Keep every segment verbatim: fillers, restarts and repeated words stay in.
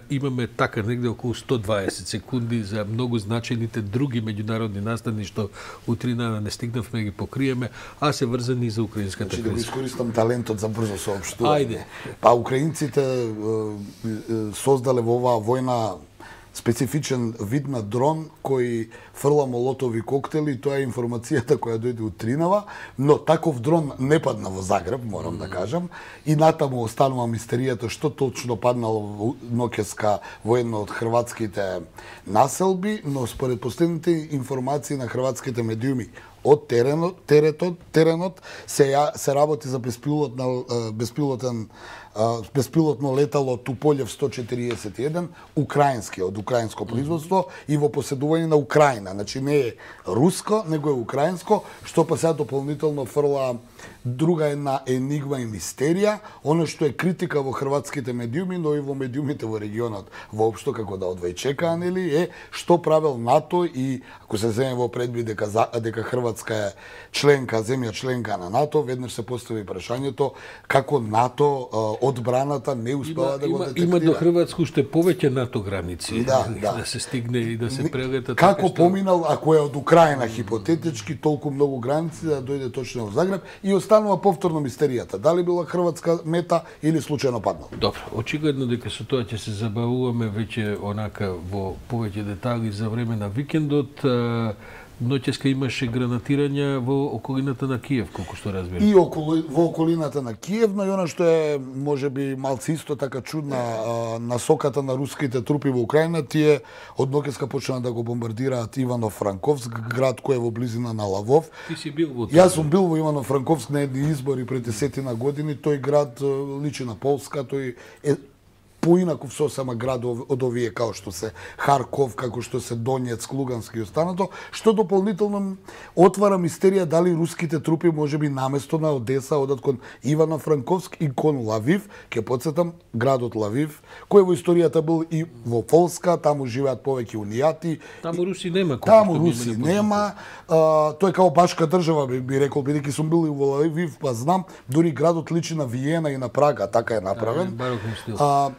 Имаме така негде околу сто дваесет секунди за многу значајните други меѓународни настани што утрина не стигнавме ги покриеме, а се врзани за украинската криза. криза. Да го искористам талентот за брзо соопштување. Ајде. Па украинците создале во оваа војна специфичен вид на дрон кој фрла молотови коктели, тоа е информацијата која дојде од Тринава, но таков дрон не падна во Загреб, морам да кажам, и натаму останува мистеријата што точно паднало во ноќеска во една од хрватските населби, но според последните информации на хрватските медиуми од теренот, теретот, теренот се ја, се работи за беспилотна беспилотен беспилотно летало Туполев сто четириесет и еден, украински, од украинско производство и во поседување на Украина. Значи не е руско, него е украинско, што па сега дополнително фрла друга една енигма и мистерија, оно што е критика во хрватските медиуми, но и во медиумите во регионот воопшто, како да одвајчека, нели, е што правел НАТО и ако се земе во предвид дека дека Хрватска е членка, земја членка на НАТО, веднаш се постави прашањето како НАТО одбраната не успела да го детектира. Има до Хрватска уште повеќе НАТО граници, да, да. да се стигне и да се прелета. Како поминал, ако е од Украина хипотетички, толку многу граници да дојде точно во Загреб и останува повторно мистеријата. Дали била хрватска мета или случајно паднал? Добро, очигледно дека со тоа ќе се забавуваме веќе онака во повеќе детали за време на викендот. Ноќеска имаше гранатирања во околината на Киев, колку што разбирам. И околу, во околината на Киев, но и она што е можеби малци исто така чудна а, насоката на руските трупи во Украина, тие од ноќеска почнаа да го бомбардираат Ивано-Франковск, град кој е во близина на Лавов. Ти си бил во тоа? Јас сум бил во Ивано-Франковск на едни избори пред десетина години. Тој град личи на Полска, тој е поинаков сосема град од овие како што се Харков, како што се Донецк, Луганск и останато, што дополнително отвара мистерија дали руските трупи можеби наместо на Одеса одат кон Ивано-Франковск и кон Лавив. Ке потсетам градот Лавив, кој во историјата бил и во Полска, таму живеат повеќе унијати. Таму руси нема. Таму руси нема. А, тој е као башка држава би, би рекол, бидејќи сум бил и во Лавив, па знам, дури градот личи на Виена и на Прага, така е направен. А,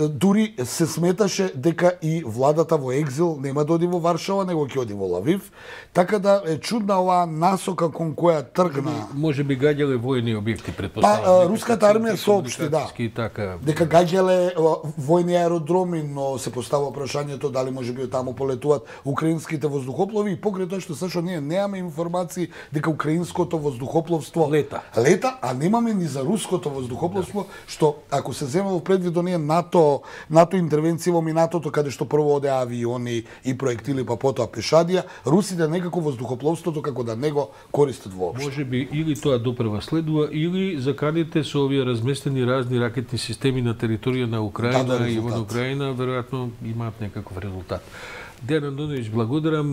дури се сметаше дека и владата во екзил нема да оди во Варшава, него ќе оди во Лавив, така да е чудна оваа насока кон која тргна. Може би гаѓале војни објекти, предпоставам. Па, руската армија соопшти, да, така... дека гаѓале војни аеродроми, но се постава прашањето дали може би таму полетуваат украинските воздухоплови и покрај тоа што сашо ние немаме информации дека украинското воздухопловство лета, лета а немаме ни за руското воздухопловство, да. Што ако се земе во предвид оние НАТО, НАТО интервенција во минатото, каде што прво оде авиони и проектили, па потоа пешадија, русите некако воздухопловството како да не го користат воопшто. Може би или тоа допрва следува, или заканите со овие разместени разни ракетни системи на територија на Украина и во Украина, веројатно имаат некаков резултат. Дејан Андоновиќ, благодарам.